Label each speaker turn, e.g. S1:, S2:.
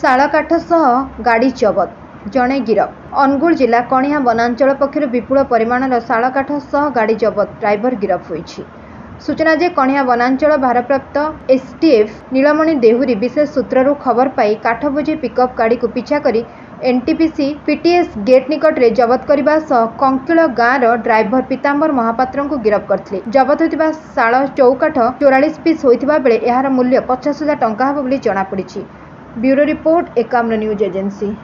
S1: ଶାଳକାଠ ସହ ଗାଡ଼ି ଜବତ, ଜଣେ ଗିରଫ। ଅନୁଗୁଳ ଜିଲ୍ଲା କଣିହାଁ ବନାଞ୍ଚଳ ପକ୍ଷରୁ ବିପୁଳ ପରିମାଣର ଶାଳକାଠ ସହ ଗାଡ଼ି ଜବତ, ଡ୍ରାଇଭର ଗିରଫ ହୋଇଛି। ସୂଚନା ଯେ, କଣିହାଁ ବନାଞ୍ଚଳ ଭାରପ୍ରାପ୍ତ ଏସ୍ଟିଏଫ୍ ନୀଳମଣି ଦେହୁରୀ ବିଶେଷ ସୂତ୍ରରୁ ଖବର ପାଇ କାଠ ବୋଝେଇ ପିକଅପ୍ ଗାଡ଼ିକୁ ପିଛା କରି ଏନ୍ଟିପିସି ପିଟିଏସ୍ ଗେଟ୍ ନିକଟରେ ଜବତ କରିବା ସହ କଙ୍କିଳ ଗାଁର ଡ୍ରାଇଭର ପୀତାମ୍ବର ମହାପାତ୍ରଙ୍କୁ ଗିରଫ କରିଥିଲେ। ଜବତ ହୋଇଥିବା ଶାଳ ଚଉକାଠ 44 ପିସ୍ ହୋଇଥିବା ବେଳେ ଏହାର ମୂଲ୍ୟ 50,000 ଟଙ୍କା ହେବ ବୋଲି ଜଣାପଡ଼ିଛି। Bureau report, Ekamra news agency.